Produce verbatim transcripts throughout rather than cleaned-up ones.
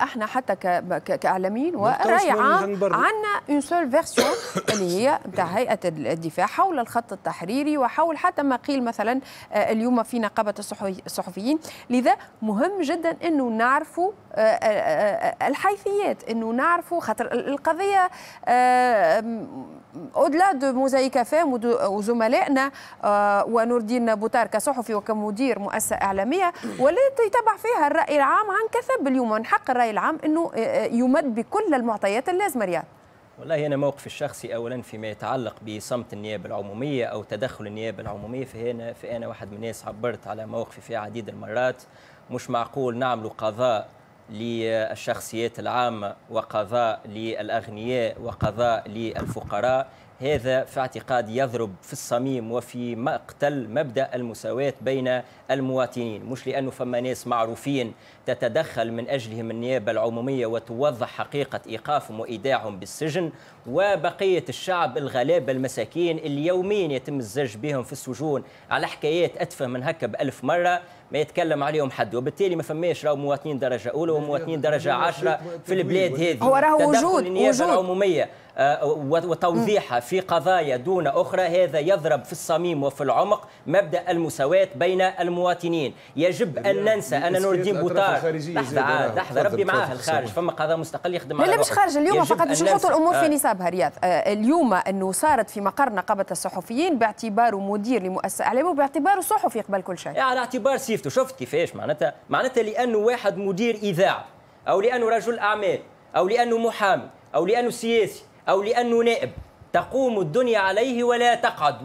احنا حتى كاعلاميين وراي عام عندنا une seule version اللي هي نتاع هيئة الدفاع حول الخط التحريري وحول حتى ما قيل مثلا اليوم في نقابة الصحفيين. لذا مهم جدا انه نعرفوا الحيثيات، انه نعرفوا خاطر القضية au-delà de موزايك أف أم وزملائنا ونور الدين بوتار كصحفي وكمدير مؤسسة اعلامية، ولات يتبع فيها الراي العام عن كثب اليوم، من حق الراي العام انه يمد بكل المعطيات اللازمة. رياض، والله أنا موقفي الشخصي أولا فيما يتعلق بصمت النيابة العمومية أو تدخل النيابة العمومية، فهنا فأنا واحد من الناس عبرت على موقفي في عديد المرات. مش معقول نعمل قضاء للشخصيات العامة وقضاء للأغنياء وقضاء للفقراء. هذا في اعتقادي يضرب في الصميم وفي مقتل مبدأ المساواة بين المواطنين. مش لأنه فما ناس معروفين تتدخل من أجلهم النيابة العمومية وتوضح حقيقة إيقافهم وإيداعهم بالسجن، وبقية الشعب الغلابة المساكين اللي يوميا يتم الزج بهم في السجون على حكايات أتفه من هكا بألف مرة ما يتكلم عليهم حد. وبالتالي ما فماش راهو مواطنين درجة أولى ومواطنين درجة عشرة في البلاد هذه. هو راهو وجود النيابة العمومية وتوضيحها في قضايا دون أخرى هذا يضرب في الصميم وفي العمق مبدأ المساواة بين المواطنين. يجب أن ننسى أن نور الدين بوتار، لحظة لحظة ربي معاه الخارج، فما قضاء مستقل يخدم على لا مش خارج اليوم، فقط باش نحطوا الأمور في نصابها. رياض، اليوم أنه صارت في مقر نقابة الصحفيين باعتباره مدير لمؤسسة إعلامية وباعتباره صحفي قبل كل شيء، على اعتبار صفته. شفت كيفاش معناتها؟ معناتها لأنه واحد مدير إذاعة أو لأنه رجل أعمال أو لأنه محامي أو لأنه سياسي أو لأنه نائب تقوم الدنيا عليه ولا تقعد.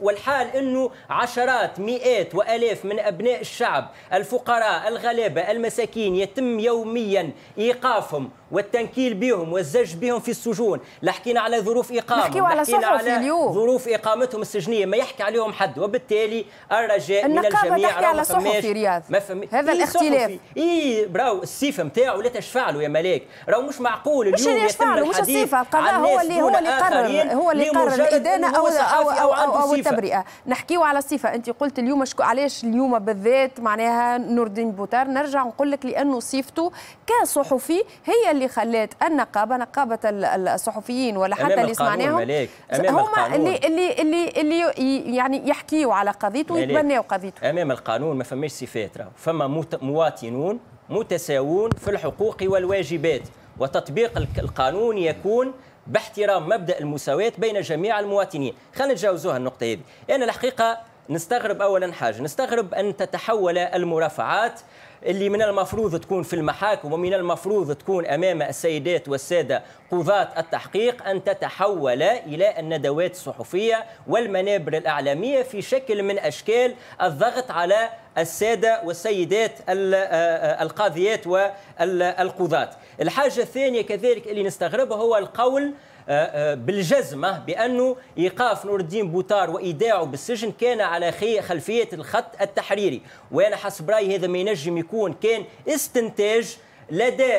والحال أنه عشرات مئات وألاف من أبناء الشعب الفقراء الغلابة المساكين يتم يوميا إيقافهم والتنكيل بهم والزج بهم في السجون. لا حكينا على ظروف إقامتهم، على على اليوم. ظروف إقامتهم السجنية ما يحكي عليهم حد. وبالتالي الرجاء من الجميع، تحكي على صحفي رياض، ما فم... هذا إيه الاختلاف. إيه براو الصفة نتاعو لا تشفع له يا ملاك، راهو مش معقول اليوم يتم الحديث مش الصفة، القضاء هو اللي هو اللي قرر، هو اللي قرر الإدانة أو أو أو, أو, أو التبرئة. نحكيو على الصفة، أنت قلت اليوم شكو علاش اليوم بالذات معناها نور الدين بوتار، نرجع نقول لك لأنه صفته كصحفي هي اللي خلات النقابة، نقابة الصحفيين ولا حتى اللي سمعناهم هما اللي اللي اللي اللي يعني يحكيوا على قضيته ويتبناوا قضيته. امام القانون ما فماش صفات، راهو فما مواطنون متساوون في الحقوق والواجبات، وتطبيق القانون يكون باحترام مبدأ المساواة بين جميع المواطنين. خلينا نتجاوزوها النقطة هذه. أنا الحقيقة نستغرب أولا حاجة، نستغرب أن تتحول المرافعات اللي من المفروض تكون في المحاكم ومن المفروض تكون أمام السيدات والسادة قضاة التحقيق أن تتحول إلى الندوات الصحفية والمنابر الإعلامية في شكل من أشكال الضغط على السادة والسيدات القاضيات والقضاة. الحاجة الثانية كذلك اللي نستغربها هو القول بالجزمة بأنه إيقاف نور الدين بوتار وإيداعه بالسجن كان على خلفية الخط التحريري، وأنا حسب رأيي هذا ما ينجم يكون كان استنتاج لدى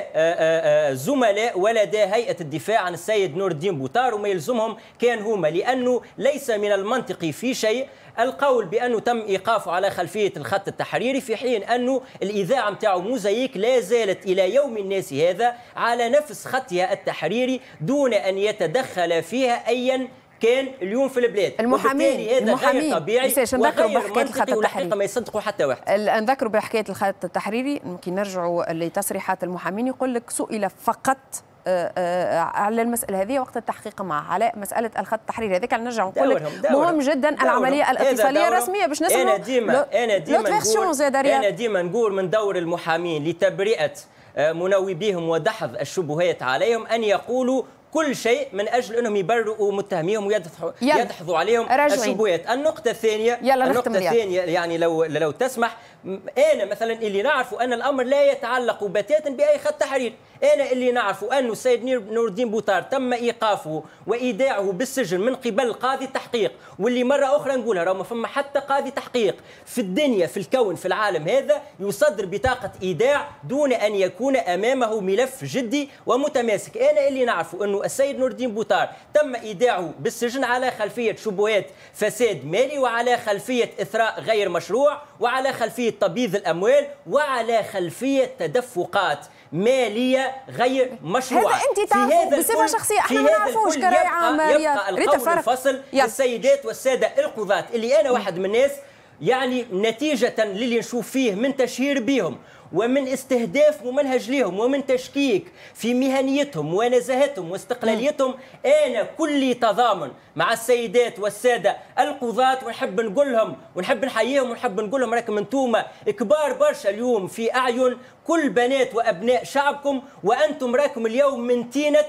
زملاء ولدى هيئة الدفاع عن السيد نور الدين بوتار، وما يلزمهم كان هما، لأنه ليس من المنطقي في شيء القول بأنه تم إيقافه على خلفية الخط التحريري، في حين أنه الإذاعة متاعه موزايك لا زالت إلى يوم الناس هذا على نفس خطها التحريري دون أن يتدخل فيها أيا كان اليوم في البلاد. المحامين هذا المحامين غير طبيعي وغير منطقي، والحقيقة ما يصدقوا حتى واحد. نذكروا بحكاية الخط التحريري، ممكن نرجعوا لتصريحات المحامين، يقول لك سئل فقط على المسألة هذه وقت التحقيق معه على مسألة الخط التحريري هذاك. نرجع نقول لك مهم جدا العملية الاتصالية الرسمية باش نسمعوا. أنا ديما أنا ديما نقول أنا ديما نقول من دور المحامين لتبرئة مناوبيهم ودحض الشبهات عليهم أن يقولوا كل شيء من اجل انهم يبرئوا متهميهم ويدحضوا يدحضوا عليهم الشبهات. النقطة الثانية، النقطة الثانية يعني لو لو تسمح، انا مثلا اللي نعرفه ان الامر لا يتعلق بتاتا باي خط تحرير. انا اللي نعرفه انه السيد نور الدين بوتار تم ايقافه وايداعه بالسجن من قبل قاضي التحقيق، واللي مرة اخرى نقولها راه ما فما حتى قاضي تحقيق في الدنيا في الكون في العالم هذا يصدر بطاقة ايداع دون ان يكون امامه ملف جدي ومتماسك. انا اللي نعرفه انه السيد نور الدين بوتار تم ايداعه بالسجن على خلفية شبهات فساد مالي، وعلى خلفية اثراء غير مشروع، وعلى خلفية تبييض الاموال، وعلى خلفية تدفقات ماليه غير مشروعه. هذا انت تعرفه بصفة شخصية، احنا ما نعرفوش كراي عام. يبقى القول الفصل للسيدات والسادة القضاة اللي انا واحد من الناس، يعني نتيجة للي نشوف فيه من تشهير بهم ومن استهداف ممنهج لهم ومن تشكيك في مهنيتهم ونزاهتهم واستقلاليتهم، أنا كلي تضامن مع السيدات والسادة القضاة، ونحب نقول لهم ونحب نحييهم ونحب نقول لهم راكم انتوما كبار برشا اليوم في أعين كل بنات وأبناء شعبكم، وأنتم راكم اليوم من تينة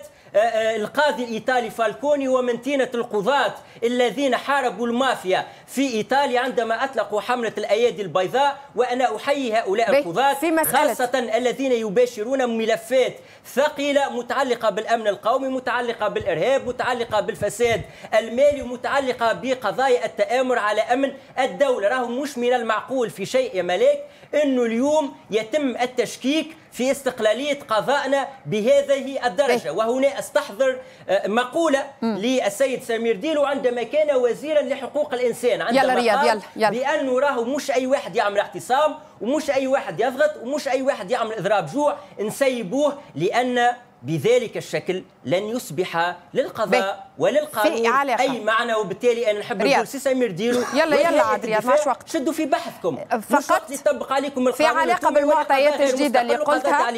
القاضي الإيطالي فالكوني ومن تينة القضاة الذين حاربوا المافيا في إيطاليا عندما أطلقوا حملة الأيادي البيضاء. وأنا أحيي هؤلاء القضاة خاصة الذين يباشرون ملفات ثقيلة متعلقة بالأمن القومي، متعلقة بالإرهاب، متعلقة بالفساد المالي، ومتعلقة بقضايا التآمر على أمن الدولة. راهو مش من المعقول في شيء يا ملاك أنه اليوم يتم التشكيك في استقلالية قضائنا بهذه الدرجة. وهنا أستحضر مقولة للسيد سمير ديلو عندما كان وزيرا لحقوق الإنسان، عندما يلا رياض قال يلا يلا بأنه راهو مش أي واحد يعمل اعتصام ومش أي واحد يضغط ومش أي واحد يعمل إضراب جوع نسيبوه، لأن بذلك الشكل لن يصبح للقضاء وللقانون أي معنى. وبالتالي أنا نحب نقول سي سمير ديلو يلا يلا عاد رياض ماش وقت، شدوا في بحثكم فقط يطبق عليكم القانون في علاقة بالمعطيات الجديدة اللي قلتها.